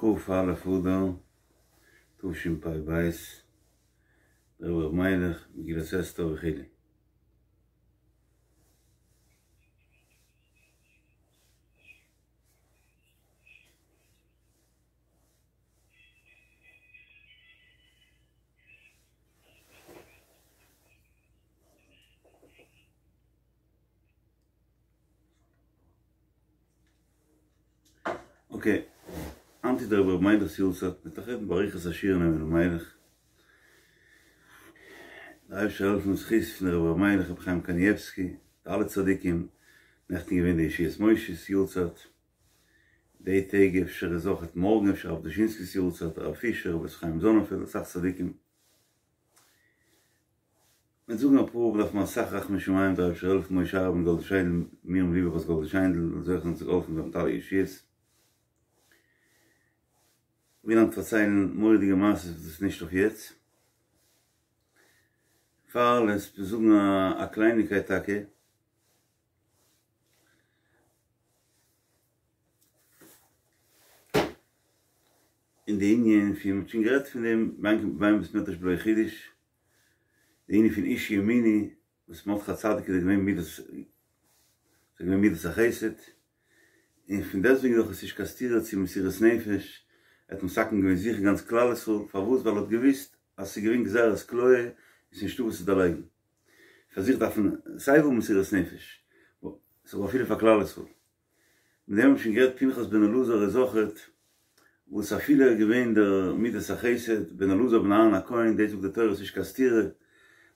כ"א אדר תשפ"ב, דער רבי ר' מיילעך, מגילת אסתר וכו'. אקעי, היינט איז דער רבי ר' מיילעך'ס יארצייט, מ'וועט נאך רעדן באריכות א שיעור אין רבי ר' מיילעך. דער אייבערשטער זאל העלפן זכות פון דער רבי ר' מיילעך רבי חיים קנייבסקי, די אלע צדיקים, נעכטן געווען די ישועות משה'ס יארצייט, די טעג אפשר איז אויכעט מארגן אפשר הרב דושינסקי'ס יארצייט, הרב פישער, רבי חיים זאנענפעלד, אסאך צדיקים. מ'וועט זאגן אפאר דארף מען אסאך רחמי שמים דער אייבערשטער זאל העלפן משה אהרן גאלדע שיינדל מרים ליבע בת גאלדע שיינדל זאל זוכה זיין צו געהאלפן ווערן מיט אלע ישועות. וויל היינט פארציילן מורא'דיגע מעשות וואס איז נישט אויף יעצט. פאר אלעס מיר זאגן א קלייניקייט טאקע. אין די ענין פון מ'האט שוין גערעדט פון דעם ביים בית מדרש בלא חידוש. די ענין פון איש ימיני וואס מרדכי הצדיק איז געווען מידת איז געווען מידת החסד, און פון דעסטוועגן דאך איז נישט קיין סתירה צו מסירות נפש, ער האט מתקן געווען זיך און גאנץ כלל ישראל, פארוואס? ווייל ער האט געוואוסט אז ס'איז געווען גזירת כליה און ס'איז נישטא וואס צו דערלייגן, פאר זיך דארף מען סיי ווי מסירות נפש, ס'איז אפילו פאר כלל ישראל. מיט דעם האב איך שוין גערעדט פנחס בן אלעזר איז אויכעט וואס אפילו ער איז געווען דער מידת החסד בן אלעזר בן אהרן הכהן דאס זאגט די תורה ס'נישט קיין סתירה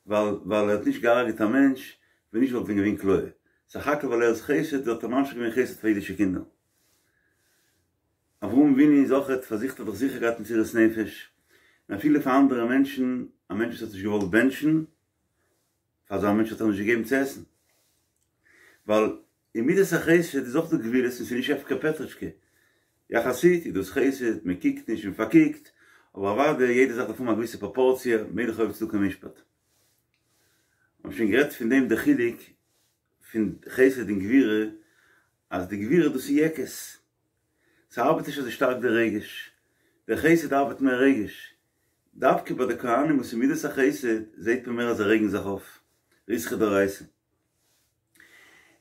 ווייל ווייל ער האט נישט געהארגעט א מענטש ווען נישט וואלט ווען געווען כליה סך הכל ווייל ער איז חסד האט ער ממשיך געווען חסד פאר אידישע קינדער אברהם אבינו איז אויכעט פאר זיך האט ער דאך זיכער געהאט מסירות נפש און אפילו פאר אנדערע מענטשן א מענטש וואס האט נישט געוואלט בענטשן פאר אזא מענטש האט ער נישט געגעבן צו עסן ווייל אין מידת החסד איז אויך דא גבולות און ס'איז נישט הפקר פעטרישקע. יחסית איז דאס חסד, מען קוקט נישט און פארקוקט, אבער אוודאי יעדע זאך דארף האבן א געוויסע פראפארציע, מלך אוהב צדקה ומשפט. מ'האט שוין גערעדט פון דעם די חילוק פון חסד און גבורה, אז די גבורה דאס איז יעקעס, ס'ארבעט נישט אזוי שטארק די רגש, די חסד ארבעט מער רגש, דווקא ביי די כהנים וואס איז מידת החסד זעט מען מער אז זיי רעגן זיך אויף, ריתחא דאורייתא.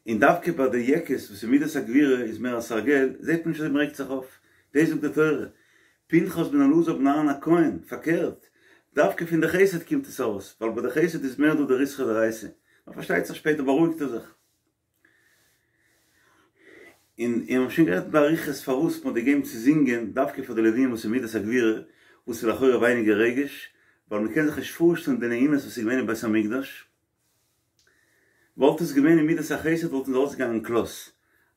און דווקא ביי די יעקעס וואס איז מידת הגבורה איז מער א סרגל, זעט מען נישט אזוי מ'רעגט זיך אויף, דאס זאגט די תורה, פנחס בן אלעזר בן אהרן הכהן, פארקערט, דווקא פון די חסד קומט עס ארויס, ווייל ביי די חסד איז מער דא די ריתחא דאורייתא, נאר פארשטייט זיך שפעטער בארואיגט ער זיך. און און מ'האט שוין גערעדט באריכות פארוואס מ'האט געגעבן צו זינגען דווקא פאר די לווים וואס איז מידת הגבורה, וואס איז לכאורה ווייניגער רגש, ווייל מ'קען זיך נישט פארשטעלן די נעימות וואס איז געווען אין בית המקדש, וואלט עס געווען אין מידת החסד וואלטן זיי אויסגעגאנגען כלות,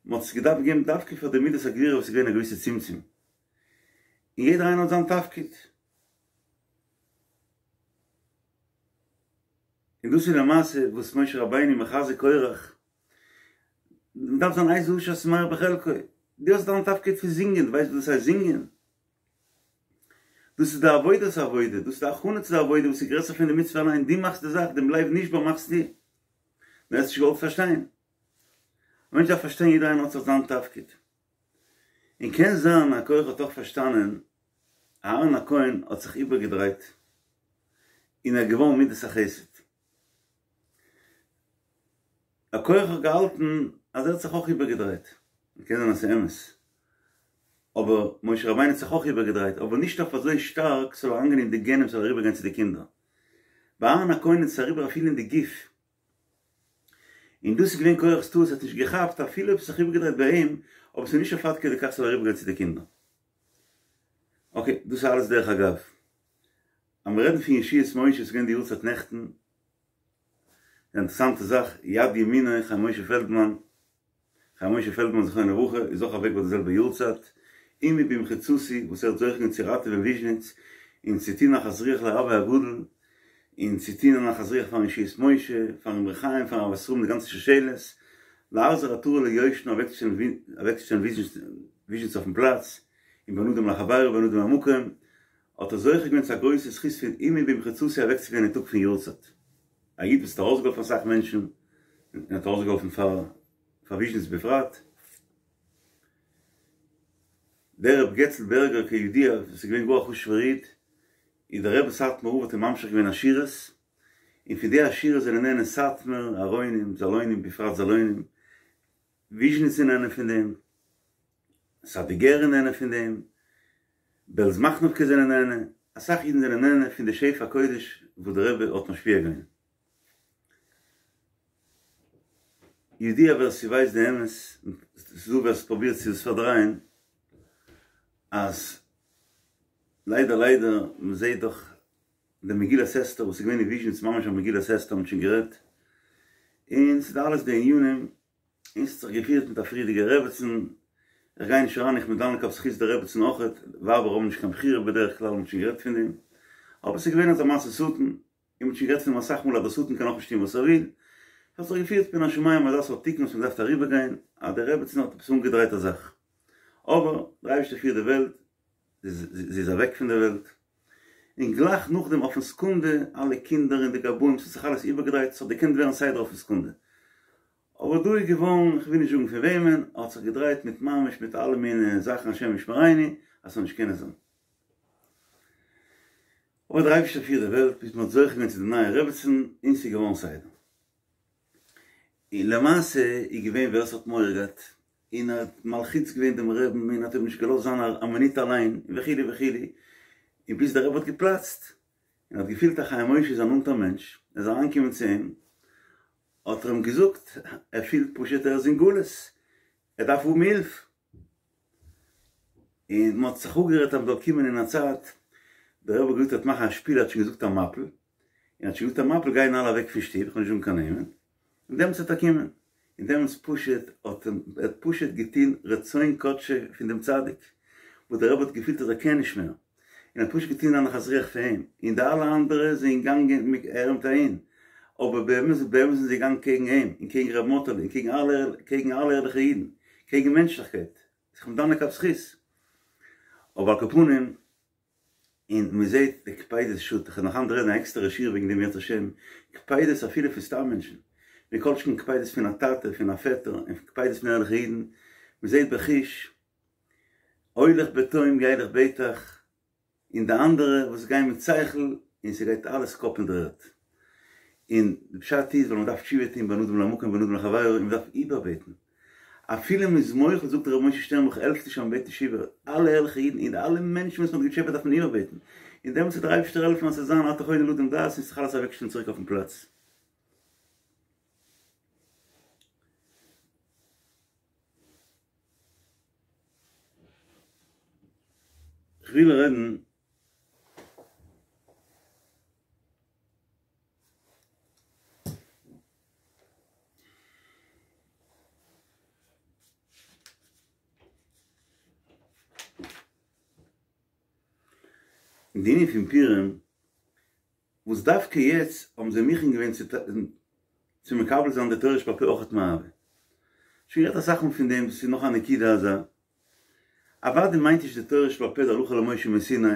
מען האט עס געדארפט געבן דווקא פאר די מידת הגבורה וואס איז געווען א געוויסע צמצום, און יעדער איינער האט זיין תפקיד. און דאס איז למעשה וואס משה רבינו מחזק קורח, מען דארף זיין איזהו עשיר השמח בחלקו, דו האסט דיין תפקיד פון זינגען, דו ווייסט וואס דאס הייסט זינגען? דאס איז די עבודת העבודה, דאס איז די הכנה צו די עבודה וואס איז גרעסער פון די מצוה אליין, דו מאכסט די זאך, דעם לב נשבר מאכסטו. דו האסט נישט געוואלט פארשטיין. א מענטש דארף פארשטיין יעדער איינער האט זיך זיין תפקיד. און קען זיין אז קורח האט אויך פארשטאנען, אהרן הכהן האט זיך איבערגעדרייט און ער איז געווארן מידת החסד. קורח האט געהאלטן אז ער האט זיך אויך איבערגעדרייט, און קען זיין אז ס'איז אמת, אבער משה רבינו האט זיך אויך איבערגעדרייט, אבער נישט אויף אזוי שטארק ס'זאל אריינגיין אין די גענען ס'זאל אריבערגיין צו די קינדער. ביי אהרן הכהן איז עס אריבער אפילו אין די גוף. און דאס איז געווען קורח'ס טעות, ער האט נישט געכאפט אפילו אויב ס'האט זיך איבערגעדרייט ביי אים, אבער ס'איז נישט אויף עד כדי כך ס'זאל אריבערגיין צו די קינדער. אקעי, דאס איז אלעס דרך אגב. אז מיר רעדן פון ישועות משה, ס'איז געווען די יארצייט נעכטן, די אינטערעסאנטע זאך, יד ימינו חיים משה פעלדמאן, חיים משה פעלדמאן זכרונו לברכה איז אויך אוועק ביי די זעלבע יארצייט, עמי במחיצתי וואס ער האט זוכה געווען צו ראטעווען וויזשניץ, און צו טון נחת רוח לרבי הגדול, און צו טון א נחת רוח פארן ישועות משה, פארן אמרי חיים, פארן אהבת ישראל מיט די גאנצע שושלת, להחזיר עטרה ליושנה אוועקצושטעלן וויזשניץ אויפן פלאץ, און בין אדם לחבירו ובין אדם למקום, האט ער זוכה געווען צו א גרויסע זכות פון עמי במחיצתי אוועקצוגיין אין טאג פון יארצייט. א איד וואס האט ארויסגעהאלפן אסאך מענטשן, און האט ארויסגעהאלפן פאר פאר וויזשניץ בפרט. דער רב געצל בערגער כידוע וואס איז געווען גאר א חשוב'ער איד, איז דער רבי סאטמאר רב האט אים ממשיך געווען עשירות, און פון די עשירות זענען נהנה סאטמאר, ארוינים, זאלוינים, בפרט זאלוינים, וויזשניץ איז נהנה פון דעם, סאדיגער איז נהנה פון דעם, בעלז מאכנובקע זענען נהנה, אסאך אידן זענען נהנה פון די שפע קודש וואס דער רבי האט משפיע געווען. ידוע ווער ס'ווייסט די אמת, ס'איז דא ווער ס'פרובירט צו עס פארדרייען, אז ליידער ליידער מ'זעהט דאך די מגילת אסתר וואס איז געווען אין וויזשניץ ממש א מגילת אסתר מ'האט שוין גערעדט, און ס'איז אלעס די ענינים, און ס'האט זיך געפירט מיט א פריערדיגע רעבעצן, איך גיי נישט אריין איך בין דן לכף זכות די רעבעצן אויכעט, ווייבער האבן נישט קיין בחירה בדרך כלל מ'האט שוין גערעדט פון דעם, אבער ס'איז געווען אזא מעשה שטן, און מ'האט שוין גערעדט פון דעם אסאך מאל אז דער שטן קען אויך נישט טון וואס ער וויל, ס'האט זיך געפירט מן השמים אזא סארט תיקון וואס מ'דארף אריבערגיין, אז די רעבעצן האט עפעס אנגעדרייט א זאך, אבער דער אייבערשטער פירט די וועלט, זי איז אוועק פון דער וועלט, און גלייך נאכדעם אויפן סעקונדע, אלע קינדער און די גבאים, ס'האט זיך אלעס איבערגעדרייט, ס'האט געקענט ווערן סדר אויפן סעקונדע, אבער דא איז געווארן, איך וויל נישט זאגן פון וועמען, האט זיך געדרייט מיט ממש מיט אלע מיני זאכן השם ישמרינו, אז ס'זאל נישט קענען זיין. אבער דער אייבערשטער פירט די וועלט, ביז מ'האט זוכה געווען צו די נייע רעבעצן, און ס'איז געווארן סדר. און למעשה איז געווען ווער ס'האט מורא געהאט, און ער האט מלחיץ געווען דעם רעבן, און האט אים נישט געלאזט זיין א מינוט אליין, וכו' וכו', און ביז דער רבי האט געפלאצט, און האט געפילט אז חיים משה איז א נאנטער מענטש, ער איז אריינגעקומען צו אים, האט ער אים געזאגט, ער פילט פשוט ער איז אין גלות, ער דארף האבן הילף. און מען האט זיך אפגערעדט אז מען זאל קומען אין א צייט, דער רבי האט געזאגט ער וועט מאכן א שפיל, ער האט שוין געזאגט א מפיל, און האט שוין געזאגט א מפיל גייען אלע אוועק פון שטוב, איך וועל נישט זאגן קיין נעמען, און דעמאלטס וועט ער קומען, און דעמאלטס פשוט האט ער האט פשוט געטון רצון קדשו פון דעם צדיק, וואס דער רבי האט געפילט אז ער קען נישט מער, און האט פשוט געטון א נחת רוח פאר אים, און די אלע אנדערע זענען געגאנגען מיט ער מיט אהין, אבער באמת באמת זענען זיי געגאנגען קעגן אים, און קעגן ר' מאטעלע, און קעגן אלע קעגן אלע ערליכע אידן, קעגן מענטשליכקייט, איך בין דן לכף זכות. אבער על כל פנים, און מען זעט די קפידות שוט, איך וועל נאך היינט רעדן א עקסטערע שיעור וועגן דעם אם ירצה השם, קפידות אפילו פון סתם מענטשן, מכל שכן קפידות פון א טאטע, פון א פעטער, און קפידות פון ערליכע אידן, מען זעט בחוש, הולך בתום ילך בטח, און די אנדערע וואס גייען מיט שכל און ס'גייט אלעס קאפ אין דר'ערד. און די פשט איז ווייל מ'דארף תשובה טון בין אדם למקום בין אדם לחבירו און מ'דארף איבערבעטן. אפילו מ'איז מוחל זאגט ר' משה שטערנבוך העלפט נישט אז מ'בעט נישט איבער. אלע ערליכע אידן און אלע מענטשן וואס מ'האט געטשעפעט דארף מען איבערבעטן. און דעמאלטס וועט דער אייבערשטער העלפן אז ס'זאל זיין אתה חונן לאדם דעת און ס'זאל זיך אלעס אוועקשטעלן צוריק אויפן פלאץ. כ'וויל רעדן אין די ענין פון פורים וואס דווקא יעצט האבן זיי מוכן געווען צו מקבל זיין די תורה שבעל פה אויכעט מאהבה. שוין גערעדט אסאך מאל פון דעם, דאס איז נאך א נקודה אזא. אוודאי מיינט נישט די תורה שבעל פה די הלכה למשה מסיני,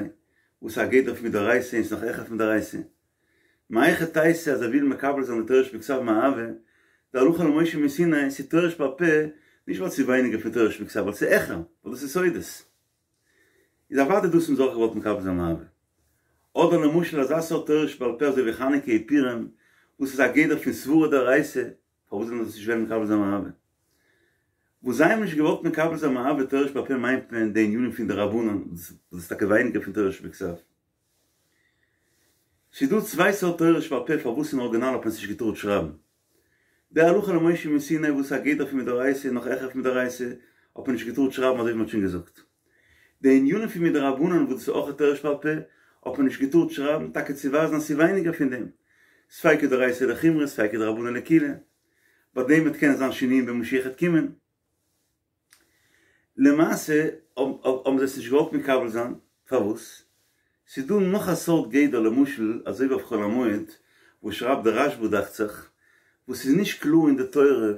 וואס איז א גדר פון מדאורייתא און ס'איז נאך העכער פון דאורייתא. מהיכי תיתי אז זיי ווילן מקבל זיין די תורה שבכתב מאהבה, די הלכה למשה מסיני, ס'איז תורה שבעל פה, נישט ווייל ס'איז ווייניגער פון תורה שבכתב, ווייל ס'איז העכער, ווייל דאס איז סודות. איז אוודאי דאס האבן זיי אויך געוואלט מקבל זיין מאהבה. אדער למשל אזא סארט תורה שבעל פה אזוי ווי חנוכה און פורים וואס איז א גדר פון סברה דאורייתא, פארוואס זאל מען דאס נישט וועלן מקבל זיין מאהבה? וואס זיי האבן נישט געוואלט מקבל זיין מאהבה תורה שבעל פה מיינט מען די ענינים פון דרבנן וואס איז טאקע ווייניגער פון תורה שבכתב. ס'איז דא צוויי סארט תורה שבעל פה פארוואס אין ארגינאל האט מען עס נישט געטארט שרייבן. די הלכה למשה מסיני וואס איז א גדר פון מדאורייתא און נאך העכער פון מדאורייתא האט מען נישט געטארט שרייבן אזוי ווי מ'האט שוין געזאגט. די ענינים פון מדרבנן וואס דאס איז אויך א תורה שבעל פה האט מען נישט געטארט שרייבן טאקע צו ווייזן אז ס'איז ווייניגער פון דעם. ספיקא דאורייתא לחומרא ספיקא דרבנן לקולא. ביי דעם וועט קענען זיין שינויים ווען משיח וועט קומען. למעשה האבן זיי עס נישט געוואלט מקבל זיין, פארוואס? ס'איז דא נאך א סארט גדר למשל אזוי ווי אויף חול המועד וואס שרייבט דער רשב"א דאכט זיך, וואס איז נישט קלאר אין די תורה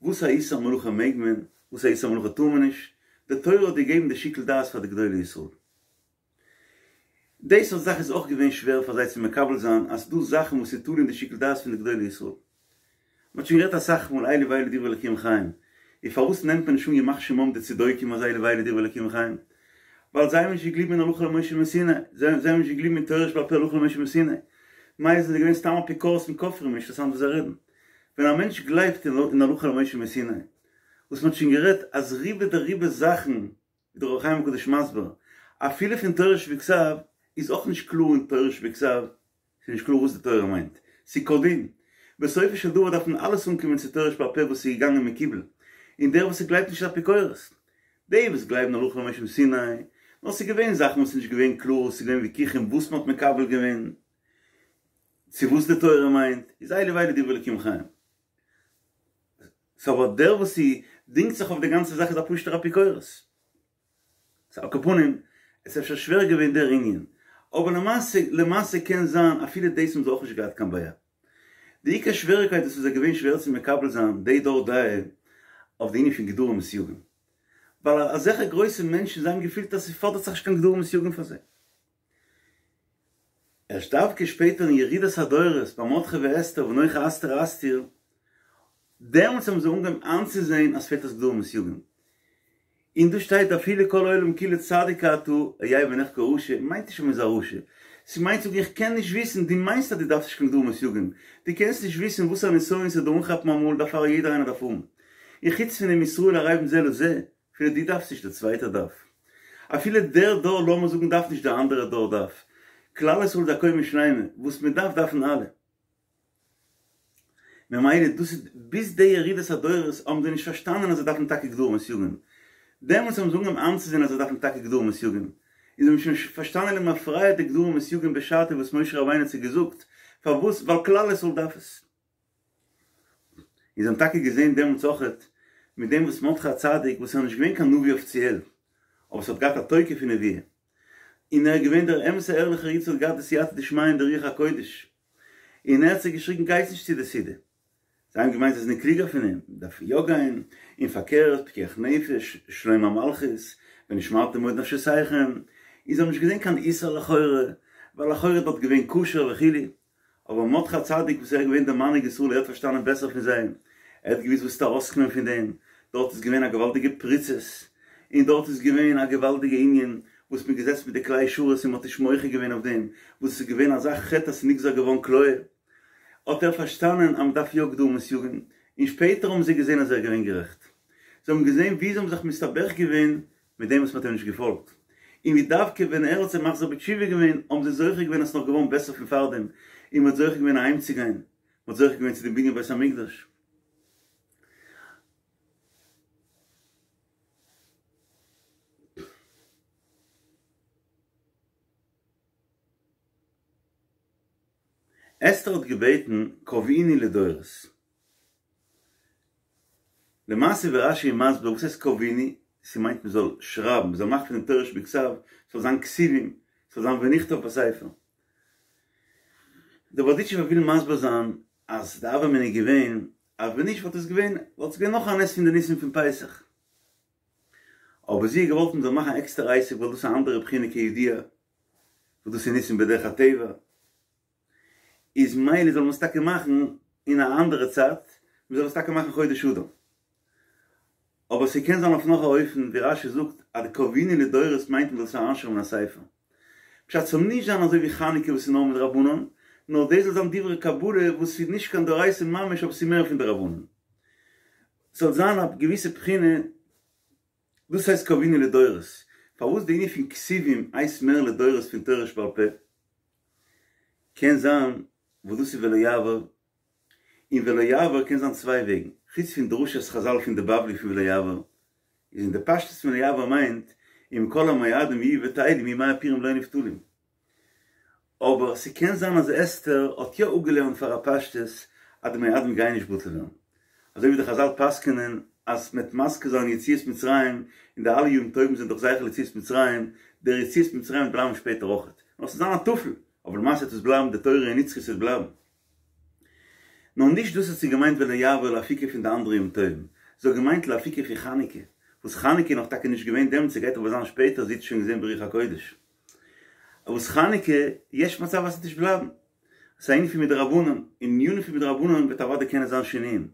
וואס א איסור מלאכה מעג מען, וואס א איסור מלאכה טאר מען נישט, די תורה האט געגעבן די שיקול דעת פאר די גדולי ישראל. די סארט זאך איז אויך געווען שווער פאר זיי צו מקבל זיין אז ס'דא זאכן וואס איז תלוי אין די שיקול דעת פון די גדולי ישראל. מ'האט שוין גערעדט אסאך מאל אלו ואלו דברי אלקים חיים, און פארוואס נעמט מען נישט אן ימח שמם די צדוקים אז אלו ואלו דברי אלקים חיים? ווייל זיי האבן נישט געגליבן אין הלכה למשה מסיני, זיי האבן נישט געגליבן אין תורה שבעל פה הלכה למשה מסיני, מילא זענען זיי געווען סתם אפיקורסים כופרים, נישט אינטערעסאנט וואס זיי רעדן. ווען א מענטש גלייבט אין הלכה למשה מסיני, וואס מ'האט שוין גערעדט אז רובא דרובא זאכן, ווי דער אור החיים הקדוש מסביר, אפילו פון תורה שבכתב, איז אויך נישט קלאר אין תורה שבכתב, ס'איז נישט קלאר וואס די תורה מיינט. ס'איז כדין. בסופו של דבר דארף מען אלעס אנקומען צו תורה שבעל פה וואס איז געגאנגען מקובל. און דער וואס ס'גלייבט נישט איז אפיקורס. די וואס גלייבן הלכה למשה מסיני, נאר ס'איז געווען זאכן וואס איז נישט געווען קלאר, ס'איז געווען וויכוחים וואס מ'האט מקבל געווען, צו וואס די תורה מיינט, איז אלו ואלו דברי אלקים חיים. סאו אבער דער וואס ס'דינגט זיך אויף די גאנצע זאך איז א פשוט'ער אפיקורס. סאו על כל פנים, עס איז אפשר שווער געווען דער ענין, אבער למעשה, למעשה קען זיין אפילו דאס האבן זיי אויך נישט געהאט קיין בעיה. די עיקר שוועריקייט וואס איז זיי געווען שווער צו מקבל זיין די דור דעה אויף די ענין פון גדרים וסייגים. ווייל אזעלכע גרויסע מענטשן זיי האבן געפילט אז ס'פאדערט זיך נישט קיין גדרים וסייגים פאר זיי. ערשט דווקא שפעטער אין ירידת הדורות ביי מרדכי ואסתר ונוחה אסתר אסתיר, דעמאלטס האבן זיי אנגעהויבן איינצוזעהן אז ס'פעלט אויס גדרים וסייגים. און דא שטייט אפילו כל העולם כולו צדיק אתה, היה בעיניך כרשע, מיינט נישט אז מ'איז א רשע. ס'מיינט זאגן איך קען נישט וויסן, דו מיינסט אז דו דארפסט נישט קיין גדרים וסייגים, דו קענסט נישט וויסן וואס א נסיון ס'וועט דיר אנכאפן אמאל, דערפאר יעדער איינער דארף האבן. און חוץ פון דעם ישראל ערבים זה לזה, אפילו דו דארפסט נישט דער צווייטער דארף. אפילו דער דור לאמיר זאגן דארף נישט דער אנדערער דור דארף. כלל ישראל איז א קומה שלימה, וואס מען דארף דארפן אלע. ממילא דאס איז ביז די ירידת הדורות האבן זיי נישט פארשטאנען אז זיי דארפן טאקע גדרים וסייגים. דעמאלטס האבן זיי אנגעהויבן איינצוזען אז זיי דארפן טאקע גדרים וסייגים. און זיי האבן שוין פארשטאנען למפרע די גדרים וסייגים בשעתו וואס משה רבינו האט זיי געזאגט. פארוואס? ווייל כלל ישראל דארף עס. און זיי האבן טאקע געזען דעמאלטס אויכעט מיט דעם וואס מרדכי הצדיק וואס איז נישט געווען קיין נביא אפיציעל אבער ס'האט געהאט א תוקף פון נבואה און ער איז געווען דער אמת'ער ערליכער איד וואס האט געהאט די סייעתא דשמיא און די רוח הקודש און ער האט זיי געשריגן גייטס נישט צו די סעודה זיי האבן געמיינט זיי זענען קלוגער פון אים מ'דארף יא גיין און פארקערט פיקוח נפש שלום המלכות ונשמרתם מאוד לנפשותיכם און זיי האבן נישט געזען קיין איסור לכאורה ווייל לכאורה איז דארט געווען כשר וכו'. אבער מרדכי הצדיק וואס ער איז געווען דער מנהיג ישראל ער האט פארשטאנען בעסער פון זיי, ער האט געוואוסט וואס וועט ארויסקומען פון דעם, דארט איז געווען א געוואלדיגע פריצות, און דארט איז געווען א געוואלדיגע ענין וואס מ'איז געזעצן מיט די כלי שרת און מ'האט נישט מוחה געווען אויף דעם, וואס עס איז געווען אזא חטא אז ס'איז נגזר געווארן כליה, האט ער פארשטאנען אז מ'דארף יא גדרים וסייגים, און שפעטער האבן זיי געזען אז ער איז געווען גערעכט, זיי האבן געזען ווי זיי האבן זיך מסתבך געווען מיט דעם וואס מ'האט אים נישט געפאלגט, און ווי דווקא ווען ער האט זיי מחזיר בתשובה געווען, האבן זיי זוכה געווען אז ס'איז נאך געווארן בעסער פון פארדעם, און מ'האט זוכה געווען אהיימצוגיין, מ'האט זוכה געווען צו דעם בנין בית המקדש. אסתר האט געבעטן קבעוני לדורות. למעשה ווי רש"י איז מסביר וואס הייסט קבעוני, ס'מיינט מ'זאל שרייבן, מ'זאל מאכן פון דעם תורה שבכתב, ס'זאל זיין כתובים, ס'זאל זיין ונכתב בספר. דער בארדיטשובער וויל מסביר זיין אז די הוה אמינא איז געווען אז ווען נישט וואלט עס געווען וואלט עס געווען נאך א נס פון די ניסים פון פסח. אבער זי האט געוואלט מ'זאל מאכן א עקסטערע עסק ווייל דאס איז א אנדערע בחינה כידוע וואס דאס איז ניסים בדרך הטבע. איז מילא זאל מען עס טאקע מאכן אין א אנדערע צייט, מען זאל עס טאקע מאכן חודש אדר. אבער ס'קען זיין אויף נאך א אופן, ווי רש"י זאגט אז די קבעוני לדורות מיינט מען זאל עס אריינשרייבן אין א ספר. פשט ס'זאל נישט זיין אזוי ווי חנוכה וואס איז נאר מדרבנן, נאר דאס זאל זיין דברי קבלה וואס איז נישט קיין דאורייתא ממש אבער ס'איז מער פון דרבנן. ס'זאל זיין א געוויסע בחינה. דאס הייסט קבעוני לדורות. פארוואס די ענין פון כתובים הייסט מער לדורות פון תורה שבעל פה? קען זיין וואס דאס איז ולא יעבור, און ולא יעבור קען זיין צוויי וועגן, חוץ פון דרשת חזל פון די בבלי פון ולא יעבור, איז אין די פשטות פון ולא יעבור מיינט אם כל המועדים יהיו בטלים ימי הפורים לא נבטלים. אבער ס'קען זיין אז אסתר האט יא אפגעלערנט פאר א פשטות אז די מועדים גייען נישט בטל ווערן. אזוי ווי די חזל פסק'נען אז מ'עט מזכיר זיין יציאת מצרים און די אלע ימים טובים זענען דאך זכר ליציאת מצרים, דער יציאת מצרים וועט בלייבן שפעטער אויכעט. נאר ס'וועט זיין א טפל, אבער למעשה וועט עס בלייבן די תורה איז נצחי ס'וועט בלייבן. נאר נישט דאס האט זי געמיינט ולא יעבור לאפוקי פון די אנדערע ימים טובים, זי האט געמיינט לאפוקי פון חנוכה, וואס חנוכה איז נאך טאקע נישט געווען דעמאלטס ס'גייט אבער זיין שפעטער זי האט עס שוין געזען ברוח הקודש. וואס חנוכה, יש מצב אז ס'וועט נישט בלייבן. ס'איז א ענין פון מדרבנן, און ענינים פון מדרבנן וועט אוודאי קענען זיין שינויים.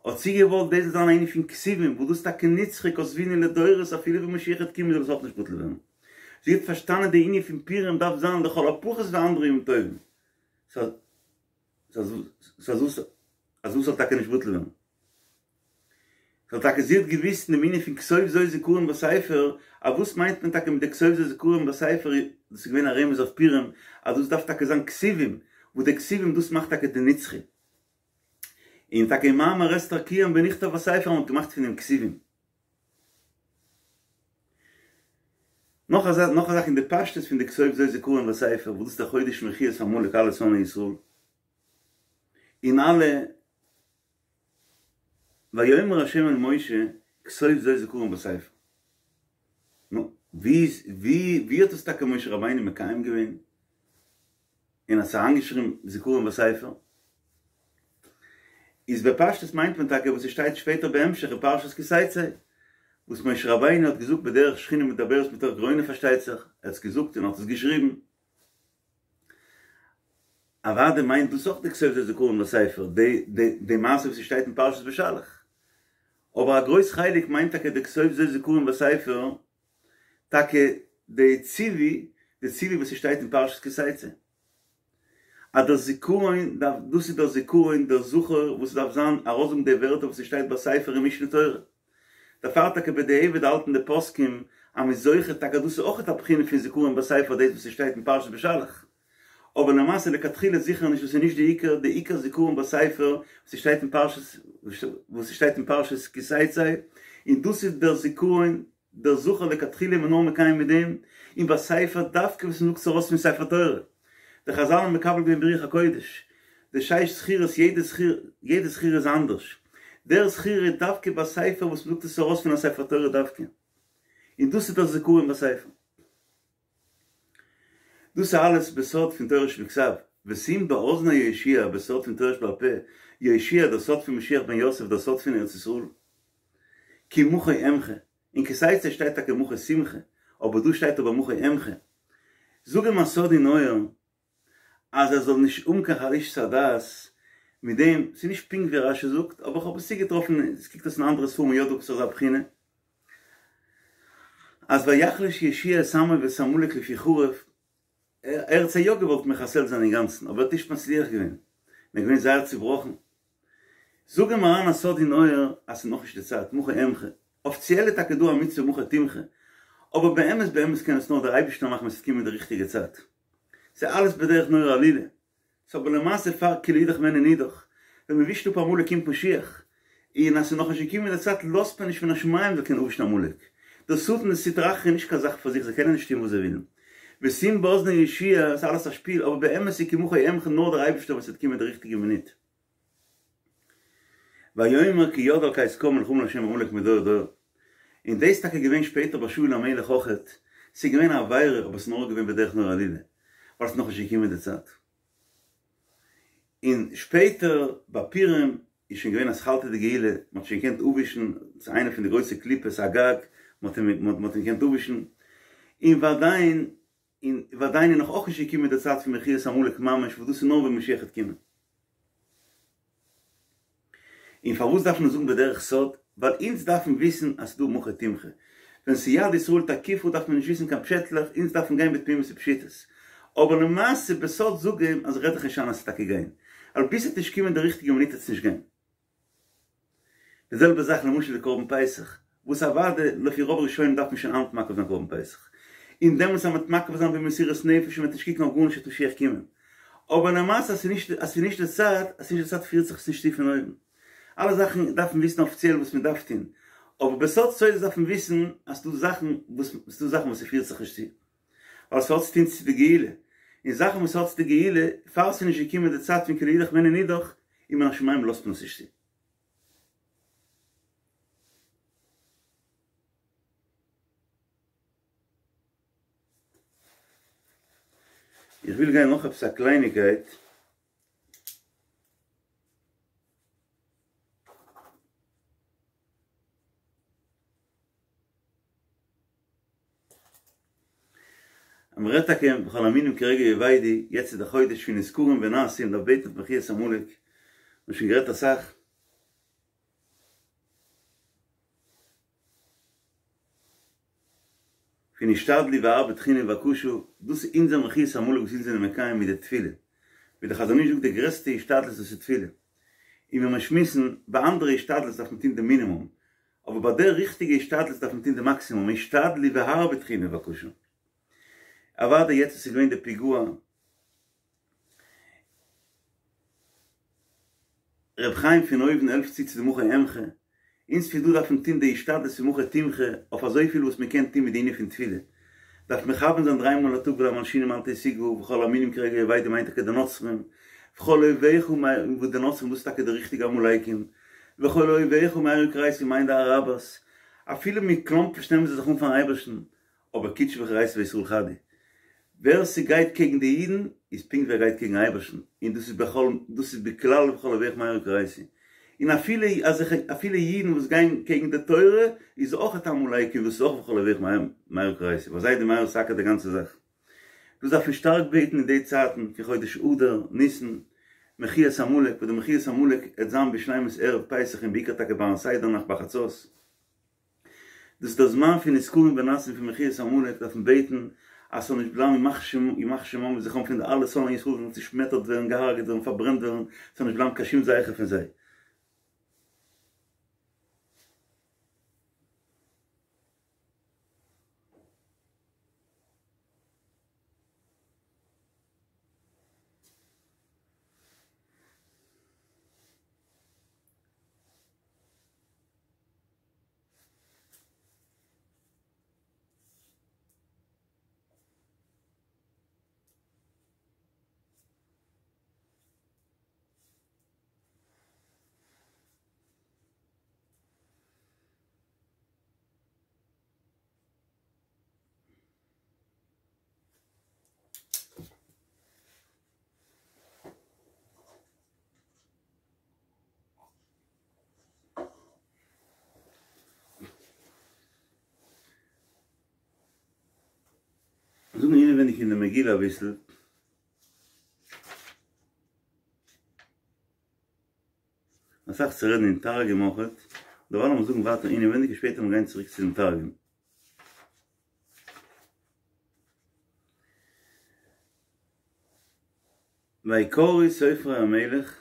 האט זי געוואלט דאס זאל זיין א ענין פון כתובים, וואס דאס איז טאקע נצחי כתבוני לדורות אפילו ווען משיח וועט קומען זאל עס אויך נישט בטל ווערן. זי האט פארשטאנען די ענין פון פורים דארף זיין לכל הפחות ווי אנדערע ימים טובים, סא אז דאס זאל טאקע נישט בטל ווערן. ווייל טאקע זי האט געוויסט אין דעם ענין פון כתוב זאת זכרון בספר, אז וואס מיינט מען טאקע מיט די כתוב זאת זכרון בספר, דאס איז געווען א רמז אויף פורים, אז דאס דארף טאקע זיין כתובים, וואס די כתובים דאס מאכט טאקע די נצחי. און טאקע אין מאמר אסתר קיים ונכתב בספר אז מען האט געמאכט פון דעם כתובים. נאך א זאך, נאך א זאך אין די פשטות פון די כתוב זאת זכרון בספר, וואס דאס איז דער חודש מחיית עמלק אלע שונאי ישראל, און אלע ויאמר ה' אל משה כתוב זאת זכרון בספר. נו, ווי איז, ווי, ווי האט עס טאקע משה רבינו מקיים געווען? און האט עס אריינגעשריבן זכרון בספר? איז בפשטות מיינט מען טאקע וואס עס שטייט שפעטער בהמשך אין פרשת כי תצא, וואס משה רבינו האט געזאגט בדרך שכינה מדברת מתוך גרונו פארשטייט זיך, ער האט עס געזאגט און האט עס געשריבן. אוודאי מיינט דאס אויך די כתוב זאת זכרון בספר, די די מעשה וואס ס'שטייט אין פרשת בשלח. אבער א גרויס חלק מיינט טאקע די כתוב זאת זכרון בספר, טאקע די ציווי, די ציווי וואס ס'שטייט אין פרשת כי תצא. אז דער זיכרון דארף, דאס איז דער זיכרון, דער זכור וואס ס'דארף זיין, ארויסזאגן די ווערטער וואס ס'שטייט בספר אין משנה תורה. דערפאר טאקע בדיעבד האלטן די פוסקים אז מ'איז זוכה טאקע דאס איז אויכעט א בחינה פון זיכרון בספר דאס וואס ס'שטייט אין פרשת בשלח, אבער למעשה לכתחילה זיכער נישט דאס איז נישט די עיקר, די עיקר זיכרון בספר וואס ס'שטייט אין פרשת וואס ס'שטייט אין פרשת כי תצא, און דאס איז דער זיכרון דער זכור לכתחילה איז מען נאר מקיים מיט דעם, און בספר דווקא וואס מ'זאגט עס ארויס פון ספר תורה. די חזל האבן מקבל געווען ברוח הקודש, די שש זכירות יעדע זכירה יעדע זכירה איז אנדערש, דער זכירה איז דווקא בספר וואס מ'זאגט עס ארויס פון א ספר תורה דווקא, און דאס איז דער זכרון בספר. דאס איז אלעס בסוד פון תורה שבכתב, ושים באזני יהושע בסוד פון תורה שבעל פה, יהושע דער סוד פון משיח בן יוסף דער סוד פון ארץ ישראל, כי מחה אמחה, אין כי תצא שטייט טאקע מחה תמחה, אבער דא שטייט אבער מחה אמחה. זאג אים א סוד אין אויער אז ער זאל נישט האבן קיין חלישות הדעת מיט דעם, ס'איז נישט פונקט ווי רשי זאגט, אבער כ'האב עס צוגעטראפן, עס קוקט אויס אין אנדערע ספרים יא דא עפעס אזא בחינה, אז ויחלש יהושע את עמו ואת עמלק לפי חרב, ער האט זיי יא געוואלט מחסל זיין אינגאנצן, אבער ער האט נישט מצליח געווען, און ער איז געווען זייער צובראכן. זאג אים אריין א סוד אין אויער אז ס'איז נאכנישט די צייט, מחה אמחה. אפיציעל איז טאקע דא א מצוה מחה תמחה, אבער באמת באמת קען עס נאר דער אייבערשטער מאכן ווען ס'וועט קומען די ריכטיגע צייט. ס'איז אלעס בדרך נורא עלילה. ס'איז אבער למעשה פאר כי לאידך בעינן נידח. ווען מ'ווישט אפ עמלק קומט משיח. און אז ס'איז נאכנישט געקומען די צייט לאזט מען נישט מן השמים זאל קענען אפווישן עמלק. דער שטן און די סטרא אחרא איז נישט קיין זאך פאר זיך זיי קענען נישט טון וואס זיי ווילן. ושים באזני יהושע איז אלעס א שפיל אבער באמת איז כי מחה אמחה נאר דער אייבערשטער ווען ס'וועט קומען די ריכטיגע מינוט. ויאמר כי יד על כס קה מלחמה לה' בעמלק מדור דור. און דאס איז טאקע געווען שפעטער ביי שאול המלך אויכעט, ס'איז געווען א עבירה אבער ס'איז נאר געווען בדרך נורא עלילה, ווייל ס'איז נאכנישט געקומען די צייט. און שפעטער ביי פורים איז שוין געווען אתחלתא דגאולה, מ'האט שוין געקענט אפווישן, ס'איז איינע פון די גרויסע קליפות אגג, מ'האט אים געקענט אפווישן, און ועדיין און ועדיין איז נאך אויך נישט געקומען די צייט פון מחיית עמלק ממש וואס דאס איז נאר ווען משיח וועט קומען. און פארוואס דארף מען זאגן בדרך סוד? ווייל אונז דארפן וויסן אז ס'דא מחה תמחה. ווען ס'יד ישראל תקיפה דארף מען נישט וויסן קיין פשעטלעך, אונז דארפן גיין בתמימות ופשיטות. אבער למעשה בסוד זאג אים אז רעד דיך נישט איין אז ס'וועט טאקע גיין. ווייל ביז ס'וועט נישט קומען די ריכטיגע מינוט וועט עס נישט גיין. די זעלבע זאך למשל די קרבן פסח, וואס אוודאי לפי רוב ראשונים דארף מען שוין היינט מקריב זיין קרבן פסח, און דעמאלטס אז מ'וועט מקריב זיין במסירות נפש און מ'וועט נישט קוקן אויף גארנישט וועט משיח קומען, אבער למעשה אז ס'איז נישט די צייט, אז ס'איז נישט די צייט פירט זיך עס נישט צו פון אויבן. אלע זאכן דארף מען וויסן אפיציעל וואס מען דארף טון, אבער בסוד סודות דארף מען וויסן אז ס'דא זאכן וואס ס'דא זאכן וואס ס'פירט זיך נישט צו, ווייל ס'האט צו טון צו די גאולה, און זאכן וואס האט צו די גאולה, פאר ס'איז נישט געקומען די צייט פון כי לאידך בעינן נידח, און מן השמים לאזט מען עס נישט צו. איך וויל גיין נאך עפעס א קלייניקייט. אז מען רעדט טאקע בכל המינים כרגע יאבדו, יעצט איז די חודש פון נזכרים ונעשים, דארף בעטן אויף מחיית עמלק, מען האט שוין גערעדט אסאך. פון השתדלו והרבו תחינה ובקשה, דאס איז אונזער מחיית עמלק וואס אונז זענען מקיים מיט די תפילה, ווי דער חזון איש זאגט די גרעסטע השתדלות דאס איז תפילה, און ווען מיר שמועסן ביי אנדערע השתדלות דארף מען טון די מינימום, אבער ביי די ריכטיגע השתדלות דארף מען טון די מאקסימום, השתדלו והרבו תחינה ובקשה. אוודאי יעצט וואס איז געווען די פיגוע, ר' חיים פון אויבן העלפט צו צו די מחה אמחה, אונז פון דא דארף מען טון די השתדלות פון מחה תמחה אויף אזויפיל וואס מען קען טון מיט די ענין פון תפילה, דארף מכוון זיין דריי מאל א טאג ולמלשינים אל תהי תוגה וכל המינים כרגע יאבדו מיינט טאקע די נוצרים, וכל אויביך וואס די נוצרים דאס איז טאקע די ריכטיגע עמלקים, וכל אויביך מהרה יכרתו מיינט די אראבערס, אפילו מיט קלאמפערשט נעמען זיי זיך אן פארן אייבערשטן, אבער קודשא בריך הוא אורייתא וישראל חד הוא. ווער ס'גייט קעגן די אידן איז פונקט ווי ער גייט קעגן אייבערשטן, און דאס איז בכל דאס איז בכלל וכל אויביך מהרה יכרתו. און אפילו אזעלכע אפילו אידן וואס גייען קעגן די תורה איז אויך עמלקים דאס איז אויך וכל אויביך מהרה יכרתו, ווייל זיי די מהרה סאקער די גאנצע זאך. דאס דארף מען שטארק בעטן אין די צייטן פון חודש אדר, ניסן, מחיית עמלק, וואס די מחיית עמלק עט זיין בשלימות ערב פסח און בעיקר טאקע ביים סדר נאכט ביי חצות. דאס איז דער זמן פון נזכרים ונעשים פון מחיית עמלק דארף מען בעטן אז ס'זאל נישט בלייבן ימח שמו ימח שמם וזכרם פון די אלע שונאי ישראל זאלן צושמעטערט ווערן געהארגעט ווערן פארברענט ווערן ס'זאל נישט בלייבן קיין שום זכר פון זיי. זאגן אינעווייניג אין די מגילה אביסל. אסאך צו רעדן אין תרגום אויכעט, דערווייל לאמיר זאגן ווייטער אינעווייניג און שפעטער מיר גיין צוריק צו דעם תרגום. ויקראו סופרי המלך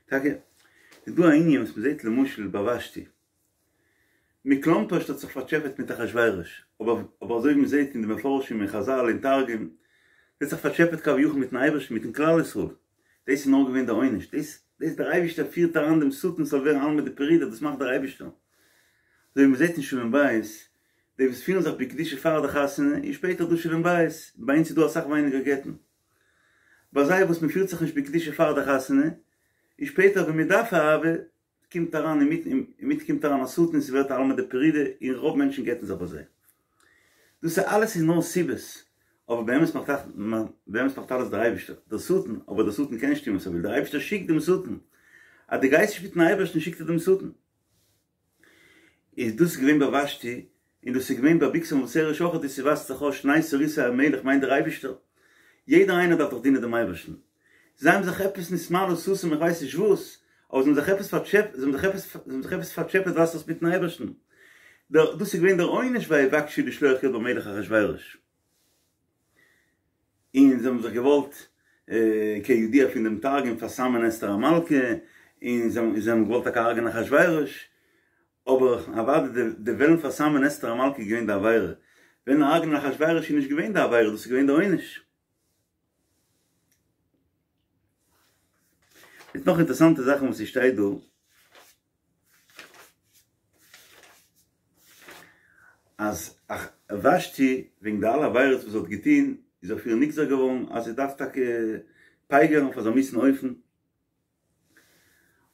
טאקע איז דא א ענין וואס מ'זעט למשל ביי ושתי. מקלומפערשט האט זיך פארטשעפעט מיט אחשורוש, אבער אבער אזוי ווי מ'זעט אין די מפרשים אין חזל אין תרגום, זי האט זיך פארטשעפעט כביכול מיטן אייבערשטן מיטן כלל ישראל, דאס איז נאר געווען די עונש, דאס דאס דער אייבערשטער פירט אריין דעם שטן ס'זאל ווערן עלמא דפרידא, דאס מאכט דער אייבערשטער. אזוי ווי מ'זעט אין שלום בית, די וואס פירן זיך בקדושה פאר די חתונה, און שפעטער דא שלום בית, ביי אונז איז דא אסאך ווייניגער גט'ן. ביי זיי וואס מ'פירט זיך נישט בקדושה פאר די חתונה, און שפעטער ווען מ'דארף אהבה, קומט אריין אינמיטן אינמיטן קומט אריין א שטן און ס'ווערט עלמא דפרידא און רוב מענטשן גט'ן זיך ביי זיי. דאס איז אלעס איז נאר סיבות, אבער באמת מאכט באמת מאכט אלעס דער אייבערשטער, דער שטן, אבער דער שטן קען נישט טון וואס ער וויל, דער אייבערשטער שיקט דעם שטן, אז דו גייסט נישט מיטן אייבערשטן שיקט ער דעם שטן. איז דאס געווען ביי ושתי, און דאס איז געווען ביי בגתן ותרש אויך, דאס ווייזט זיך אויס שני סריסי המלך מיינט דער אייבערשטער, יעדער איינער דארף דאך דינען דעם אייבערשטן, זיי האבן זיך עפעס נתמלא סתים איך ווייס נישט וואס, אבער זיי האבן זיך עפעס פארטשעפעט, זיי האבן זיך עפעס, זיי האבן זיך עפעס פארטשעפעט ווייזט אויס מיטן אייבערשטן, דער, דאס איז געווען דער עונש ויבקשו לשלוח יד במלך אחשורוש. און זיי האבן זיך געוואלט כידוע פון דעם תרגום פארסאמען אסתר המלכה, און זיי האבן געוואלט טאקע הרג'ענען אחשורוש, אבער אוודאי די וועלן פארסאמען אסתר המלכה איז געווען די עבירה, וועלן הרג'ענען אחשורוש איז נישט געווען די עבירה, דאס איז געווען די עונש. מיט נאך אינטערעסאנטע זאכן וואס ס'שטייט דא. אז ושתי וועגן די אלע עבירות וואס זי האט געטון איז אויף איר נגזר געווארן אז זי דארף טאקע פייגערן אויף אזא מיאוסן אופן,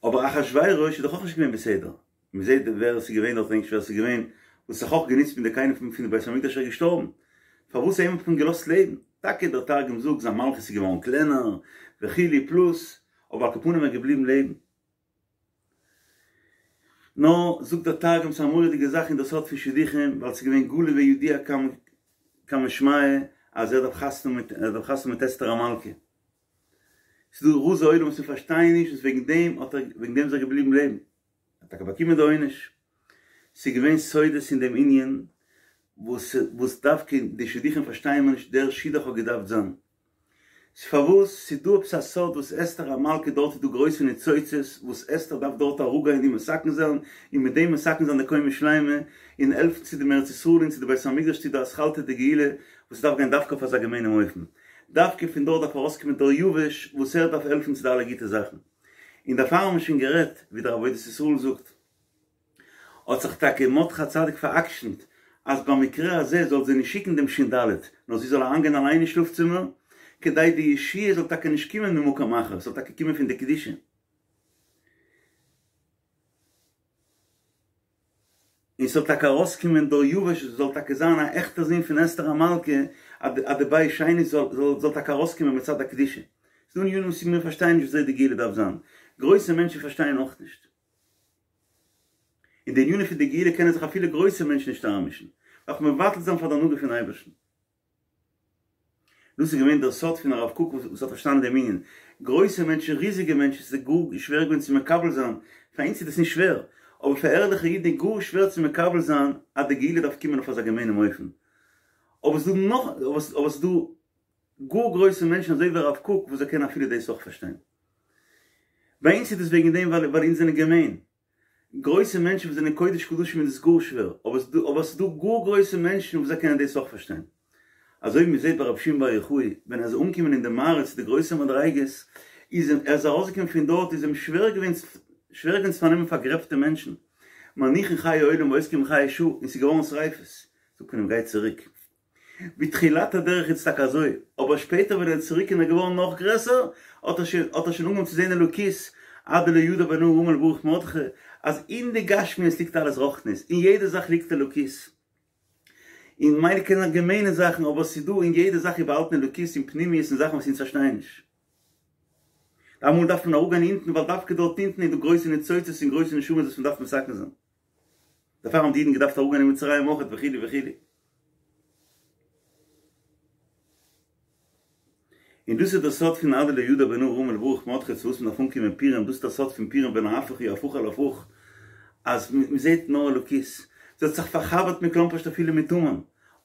אבער אחשורוש איז דאך אויך נישט געווען בסדר, מען זעט ווער עס איז געווען דארט כ'דענק נישט ווער עס איז געווען וואס זיך אויך גענוצט מיט די כלים פון די בית המקדש ער איז געשטארבן, פארוואס אים האט מען געלאזט לעבן? טאקע דער תרגום זאגט זיין מלכות איז געווארן קלענער וכו' פלוס. אבער על כל פנים ער איז געבליבן לעבן. נאר, זאגט דער תרגום, ס'איז א מורא'דיגע זאך אין דער סוד פון שידוכים, ווייל ס'איז געווען גלוי וידוע קמי שמיא אז ער דארף חתונה מיט ער דארף חתונה מיט אסתר המלכה. ס'איז דא רזי עולם וואס מיר פארשטייען נישט וואס וועגן דעם האט ער וועגן דעם איז ער געבליבן לעבן. ער האט טאקע באקומען די עונש. ס'איז געווען סודות אין דעם ענין וואס וואס דווקא די שידוכים פארשטייען מיר נישט דער שידוך האט געדארפט זיין. פארוואס ס'איז דא עפעס א סוד וואס אסתר המלכה דארט איז דא גרויסע ניצוצות וואס אסתר דארף דארט אראפגיין און מתקן זיין און מיט דעם מתקן זיין די קומה שלימה און העלפן צו דעם ארץ ישראל און צו די בית המקדש צו די אתחלתא דגאולה וואס דארף גיין דווקא אויף אזא געמיינעם אופן דווקא פון דארט דארף ארויסקומען דריווש וואס ער דארף העלפן צו די אלע גוטע זאכן און דערפאר האבן מיר שוין גערעדט ווי דער עבודת ישראל זאגט. האט זיך טאקע מרדכי הצדיק פאר'עקשנ'ט אז במקרה הזה זאל זי נישט שיקן דעם שין ד', נאר זי זאל אריינגיין אליין אין שלאף צימער, כדי די ישועה זאל טאקע נישט קומען ממקום אחר, ס'זאל טאקע קומען פון די קדושה. און ס'זאל טאקע ארויסקומען דריווש זאל טאקע זיין א עכטער זון פון אסתר המלכה, אז די בית שני זאל טאקע ארויסקומען מצד הקדושה. ס'דא ענינים וואס מיר פארשטייען נישט וויאזוי די גאולה דארף זיין. גרויסע מענטשן פארשטייען אויך נישט. אין די ענינים פון די גאולה קענען זיך אפילו גרויסע מענטשן נישט אריינמישן, דארף מען מבטל זיין פאר די הנהגה פון אייבערשטן. דאס איז געווען דער סוד פון הרב קוק וואס האט פארשטאנען דעם ענין. גרויסע מענטשן, ריזיגע מענטשן, עס איז גאר שווער געווען צו מקבל זיין, פאר אונז איז דאס נישט שווער, אבער פאר ערליכע אידן איז גאר שווער צו מקבל זיין אז די גאולה דארף קומען אויף אזא געמיינעם אופן. אבער עס איז דא נאך, אבער עס איז דא גאר גרויסע מענטשן אזוי ווי הרב קוק וואס זיי קענען אפילו דאס אויך פארשטיין. ביי אונז איז דאס וועגן דעם ווייל אונז זענען געמיין. גרויסע מענטשן וואס זענען קודש קדשים איז דאס גאר שווער, אבער עס איז דא גאר גרויסע מענטשן וואס זיי קענען דאס אויך פארשטיין. אזוי ווי מען זעט ביי רבי שמעון בר יוחאי, ווען ער איז אנגעקומען אין די מערה צו די גרויסע מדריגות, איז אים, ער איז ארויסגעקומען פון דארט איז אים שווער געווען שווער געווען צו פארנעמען פארגרעבטע מענטשן, מניחין חיי עולם ועוסקים בחיי שעה, און ס'איז געווארן שריפות. זאגט מען אים גיי צוריק. בתחילת הדרך איז טאקע אזוי, אבער שפעטער ווען ער איז צוריק און ער איז געווארן נאך גרעסער, האט ער שוין האט ער שוין אנגעהויבן צו זען אלוקית, עד דלא ידע בין ארור המן לברוך מרדכי, אז אין די גשמיות ליגט אלעס רוחניות, אין יעדע זאך ליגט אלוקית. און מילא קען זיין געמיינע זאכן, אבער ס'איז דא אין יעדע זאך איז באהאלטן אלוקית און פנימיות און זאכן וואס אונז פארשטייען נישט. אמאל דארף מען אראפגיין אונטן ווייל דווקא דארט אונטן איז דא גרויסע ניצוצות און גרויסע נשמות וואס מ'דארף מתקן זיין. דערפאר האבן די אידן געדארפט אראפגיין אין מצרים אויכעט וכו' וכו'. און דאס איז דער סוד פון עד דלא ידע בין ארור המן לברוך מרדכי צו וואס מען דארף אנקומען פורים, דאס איז דער סוד פון פורים ונהפוך הוא הפוך על הפוך, אז מען זעט נאר אלוקות, זי האט זיך פארחבר'ט מכלומרשט אפילו מיט המן,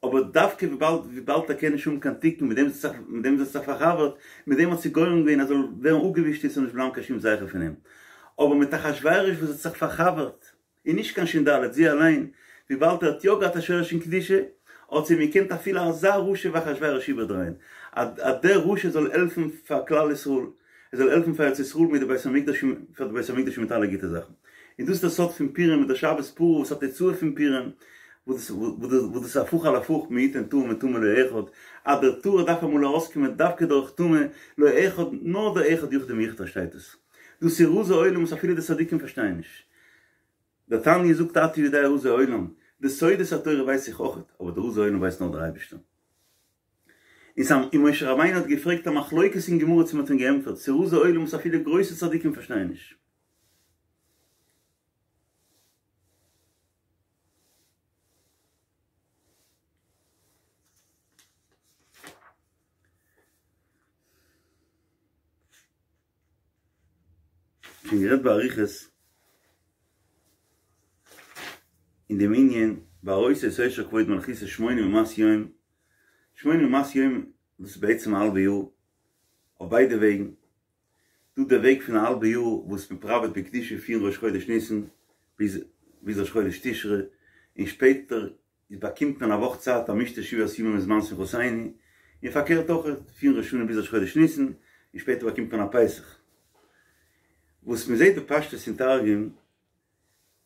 אבער דווקא וויבאלד וויבאלד ער קען נישט האבן קיין תיקון מיט דעם זי האט זיך מיט דעם זי האט זיך פארחבר'ט, מיט דעם האט זי גורם געווען אז זאל ווערן אפגעווישט און ס'זאל נישט בלייבן קיין שום זכר פון אים. אבער מיט אחשורוש וואס האט זיך פארחבר'ט, און נישט קיין שין ד', זי אליין, וויבאלד ער האט יא געהאט א שורש אין קדושה, האט זי אים געקענט אפילו אזא רשע ווי אחשורוש איבערדרייען, אז דער רשע זאל העלפן פאר כלל ישראל, ער זאל העלפן פאר ארץ ישראל מיט די בית המקדש און פאר די בית המקדש מיט אלע גוטע זאכן. און דאס איז דער סוד פון פורים מיט דער שבת פרה וואס א תוצאה פון פורים, וואס דאס איז הפוך על הפוך מי יתן טהור מטמא לא אחד, אז דער טהור דארף אמאל ארויסקומען דווקא דורך טומאה, לא אחד, נאר דער אחד יחיד ומיוחד פארשטייט עס. דאס איז רזי עולם וואס אפילו די צדיקים פארשטייען נישט. דער תניא זאגט אתה יודע רזי עולם, די סודות התורה ווייס איך אויכעט, אבער די רזי עולם ווייסט נאר דער אייבערשטער. און ס'האט און משה רבינו האט געפרעגט א מחלוקת אין גמרא צו מ'האט אים געענטפערט, ס'איז רזי עולם וואס אפילו גרויסע צדיקים פארשטייען נישט. שוין גערעדט באריכות אין דעם ענין והראות את עושר כבוד מלכותו שמונים ומאת יום, שמונים ומאת יום דאס איז בעצם א האלבע יאר אויף ביידע וועגן, דא דער וועג פון א האלבע יאר וואס מען פראוועט בקדושה פון ראש חודש ניסן ביז ביז ראש חודש תשרי, און שפעטער איז באקומט מען א וואך צייט א משתה שבעת ימים מזמן שמחתינו, און פארקערט אויך פון ראש השנה ביז ראש חודש ניסן, און שפעטער באקומט מען א פסח. וואס מען זעט בפשטות אין תרגום,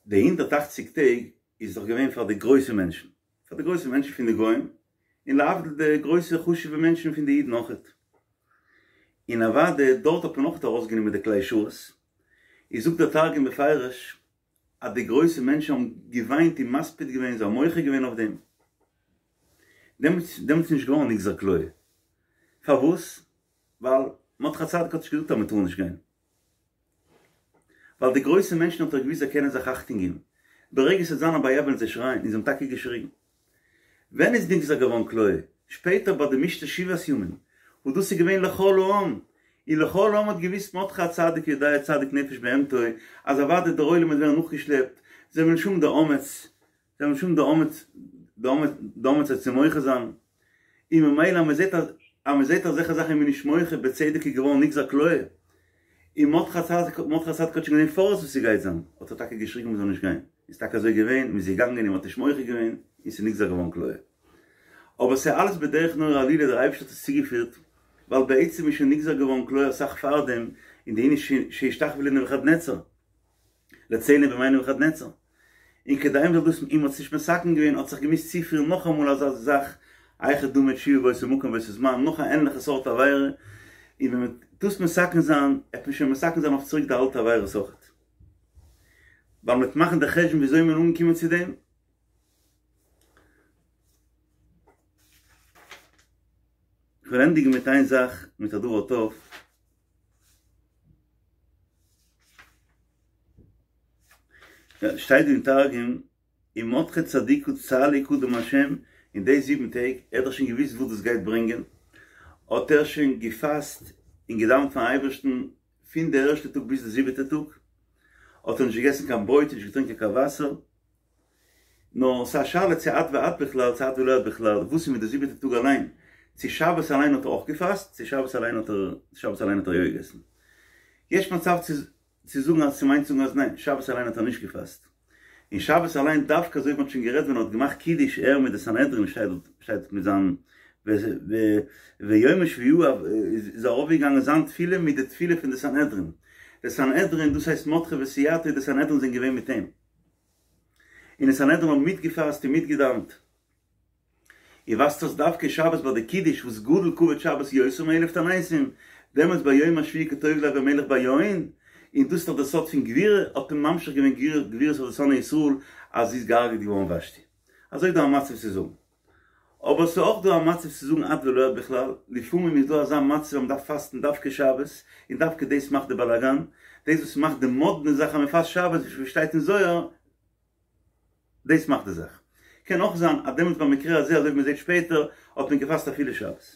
די הונדערט אכציג טעג איז דאך געווען פאר די גרויסע מענטשן, פאר די גרויסע מענטשן פון די גוים, און להבדיל די גרויסע חשוב'ע מענטשן פון די אידן אויכעט. און אוודאי דארט האט מען אויכעט ארויסגענומען די כלי שרת, איז זאגט דער תרגום בפירוש אז די גרויסע מענטשן האבן געוויינט און מספיד געווען, זיי האבן מוחה געווען אויף דעם. דעמאלטס איז נישט געווארן נגזר כליה. פארוואס? ווייל מרדכי הצדיק האט נישט געזאגט אז מען טאר נישט גיין. ווייל די גרויסע מענטשן האט ער געוואוסט זיי קענען זיך אכטונג געבן, ברגע ס'וועט זיין א בעיה וועלן זיי שרייען, און זיי האבן טאקע געשריגן. ווען איז נגזר געווארן כליה? שפעטער ביי די משתה שבעת ימים, וואס דאס איז געווען לכל העם, און לכל העם האט געוואוסט מרדכי הצדיק יודע צדיק נפש בהמתו, אז אוודאי דער עולם וועט ווערן נאכגעשלעפט, זיי וועלן נישט האבן די אומץ, זיי וועלן נישט האבן די אומץ, די אומץ, די אומץ זיך צו מוחה זיין, און ממילא אז מען זעט אז אז מען זעט אזעלכע זאכן איז מען נישט מוחה, בצדק איז געווארן נגזר כליה, און מרדכי הצדיק מרדכי הצדיק האט שוין געזען פאראויס וואס ס'גייט זיין, האט ער טאקע געשריגן מען זאל נישט גיין, איז טאקע אזוי געווען, מען איז געגאנגען און מען האט נישט מוחה געווען, און ס'איז נגזר געווארן כליה. אבער ס'איז אלעס בדרך נורא עלילה, דער אייבערשטער האט עס צוגעפירט, ווייל בעצם איז שוין נגזר געווארן כליה אסאך פארדעם, אין די ענין שהשתחוו לנבוכדנצר. לצלם בימי נבוכדנצר. און כדי מ'זאל דאס און מ'האט עס נישט מתקן געווען האט זיך געמוזט צופירן נאכאמאל אזא זאך, היכי דמי תשובה באותו מקום באותו זמן, נאך א ענליכע סארט עבירה, און ווען מ'וועט דאס מתקן זיין, עט מען שוין מתקן זיין אויף צוריק די אלטע עבירות אויכעט. ווייל מ'וועט מאכן די חשבון וויאזוי מ'איז אנגעקומען צו דעם. כ'וועל ענדיגן מיט איין זאך, מיט א דבר טוב. שטייט דא אין תרגום, ומרדכי צדיקא צלי קדם השם, אין די זיבן טעג, ער האט דאך שוין געוואוסט וואס דאס גייט ברענגען, האט ער שוין געפאסט און געדאווענט פארן אייבערשטן פון די ערשטע טאג ביז די זיבעטע טאג, האט ער נישט געגעסן קיין ברויט און נישט געטרינקען קיין וואסער, נאר ס'איז א שאלה צו עד ועד בכלל צו עד ולא עד בכלל, וואס איז מיט די זיבעטע טאג אליין, צו שבת אליין האט ער אויך געפאסט, צו שבת אליין האט ער שבת אליין האט ער יא געגעסן. יש מצב צו צו זאגן אז ס'מיינט זאגן אז ניין, שבת אליין האט ער נישט געפאסט. און שבת אליין דווקא אזוי ווי מ'האט שוין גערעדט ווען ער האט געמאכט קידוש ער מיט די סנהדרין שטייט דארט שטייט מיט זיין ויום השביעי איז ארויפגעגאנגען זיין תפילה מיט די תפילה פון די סנהדרין. די סנהדרין דאס הייסט מרדכי וסייעתו די סנהדרין זענען געווען מיט אים. און די סנהדרין האבן מיטגעפאסט און מיטגעדאווענט. און ווייזט אויס דווקא שבת ביי די קידוש וואס גדול כבוד שבת יותר מאלף תעניתים, דעמאלטס ביום השביעי כטוב לב המלך ביין, און דאס איז דאך דער סוד פון גבורה, האט מען ממשיך געווען גבורות אויף די שונאי ישראל אז זי איז געהארגעט געווארן ושתי. אזוי איז דא א מצב צו זאגן. אבער ס'איז אויך דא א מצב צו זאגן עד ולא עד בכלל, לפעמים איז דא אזא מצב אז מ'דארף פאסטן דווקא שבת, און דווקא דאס מאכט די באלאגאן, דאס וואס מאכט די מאדנע זאך אז מ'פאסט שבת ווי שטייט אין זוהר, דאס מאכט די זאך. קען אויך זיין אז דעמאלטס במקרה הזה אזוי ווי מ'זעט שפעטער האט מען געפאסט אפילו שבת.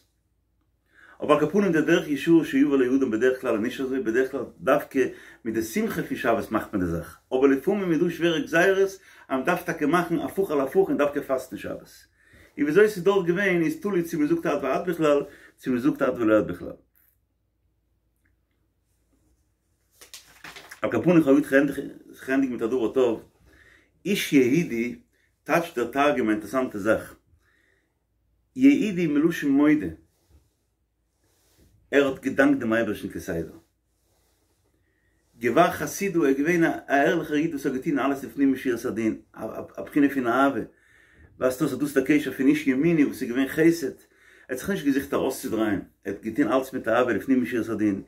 אבער על כל פנים דער דרך ישרה שיבא לו אדם בדרך כלל איז נישט אזוי, בדרך כלל דווקא מיט די שמחה פון שבת מאכט מען די זאך, אבער לפעמים איז דא שווערע גזירות אז מען דארף טאקע מאכן הפוך על הפוך און דווקא פאסטן שבת. און וויאזוי עס איז דארט געווען איז תלוי צו מען זאגט עד ועד בכלל צו מען זאגט עד ולא עד בכלל. על כל פנים כ'האב געוואלט ענדיגן מיט א דבר טוב, איש יהודי טייטשט דער תרגום א אינטערעסאנטע זאך, יהודי מלשון מודה, ער האט געדאנקט דעם אייבערשטן כסדר. גבר חסידא, ער איז געווען א ערליכער איד וואס האט געטון אלעס לפנים משורת הדין, א בחינה פון אהבה. ווייזט אויס אז דאס איז דער קשר פון איש ימיני וואס איז געווען חסד, ער האט זיך נישט געזוכט ארויסצודרייען, ער האט געטון אלעס מיט אהבה לפנים משורת הדין,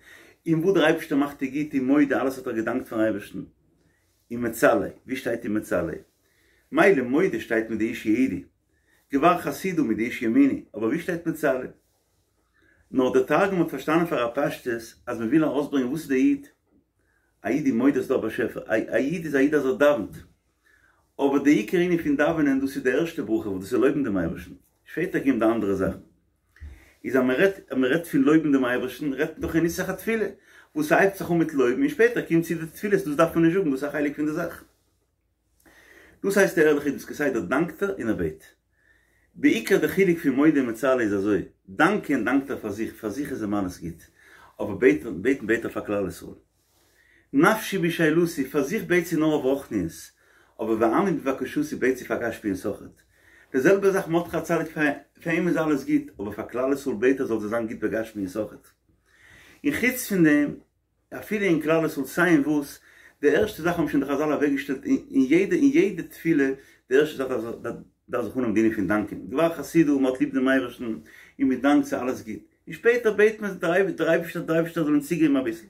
און וואס דער אייבערשטער מאכט איז גוט און מודה, אלעס האט ער געדאנקט פארן אייבערשטן. ומצלי, ווי שטייט ומצלי? מילא מודה שטייט מיט די איש יהודי. גבר חסידא מיט די איש ימיני, אבער ווי שטייט מצלי? נאר דער תרגום האט פארשטאנען פאר א פשטות אז מען וויל ארויסברענגען וואס איז דער איד, א איד איז מודה ס'דא א באשעפער, א איד איז א איד אז ער דאווענט, אבער די עיקר ענין פון דאווענען דאס איז די ערשטע ברכה וואס דאס איז לויבן דעם אייבערשטן, שפעטער קומט די אנדערע זאכן. איז אז מען רעדט אז מען רעדט פון לויבן דעם אייבערשטן רעדט מען דאך אין נוסח התפילה וואס ס'הייבט זיך אן מיט לויבן און שפעטער קומט צו די תפילות דאס דארף מען נישט זאגן דאס איז א חלק פון די זאך. דאס הייסט דער ערליכער איד וואס כסדר דאנקט ער און ער בעט. בעיקר די חילוק פון מודה און מצלי איז אזוי, דאנקען דאנקט ער פאר זיך, פאר זיך איז אים אלעס גוט, אבער בעטן בעטן בעט ער פאר כלל ישראל. נפשי בשאלתי, פאר זיך בעט זי נאר אויף רוחניות, אבער ועמי בבקשתי בעט זי פאר גשמיות אויכעט. די זעלבע זאך מרדכי הצדיק פאר אים איז אלעס גוט, אבער פאר כלל ישראל בעט ער זאל זיי זיין גוט בגשמיות אויכעט. און חוץ פון דעם אפילו אין כלל ישראל סיי אין וואס, די ערשטע זאך האבן שוין די חזל אוועקגעשטעלט אין יעדע אין יעדע תפילה, די ערשטע זאך דארף זיך אנהויבן די ענין פון דאנקען, גבר חסידא מען האט ליב דעם אייבערשטן און מען דאנקט ס'איז אלעס גוט, און שפעטער בעט מען דער אייבערשטער דער אייבערשטער זאל אים צוגעבן אביסל.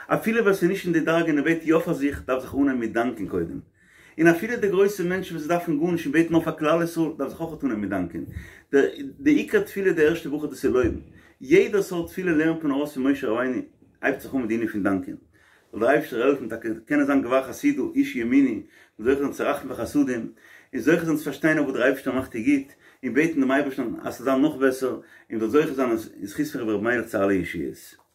אפילו ווער ס'איז נישט אין די דרגה און ער בעט יא פאר זיך, דארף זיך אנהייבן מיט דאנקען קודם. און אפילו די גרויסע מענטשן וואס דארפן גארנישט און בעטן נאר פאר כלל ישראל, דארף זיך אויך אנהייבן מיט דאנקען. די עיקר תפילה די ערשטע ברכה דאס איז לויבן. יעדע סארט תפילה לערנט מען ארויס פון משה רבינו, הייבט זיך אן מיט די ענין פון דאנקען. זאל דער אייבערשטער העלפן טאקע קענען זיין גבר חסידא איש ימיני, און זוכה זיין צו רחמים וחסדים, און זוכה זיין צו פארשטיין אויף וואס דער אייבערשטער מאכט דיר גוט, און בעטן דעם אייבערשטן אז ס'זאל זיין נאך בעסער, און מ'זאל זוכה זיין אין זכות פון רבי ר' מיילעך צו אלע ישועות.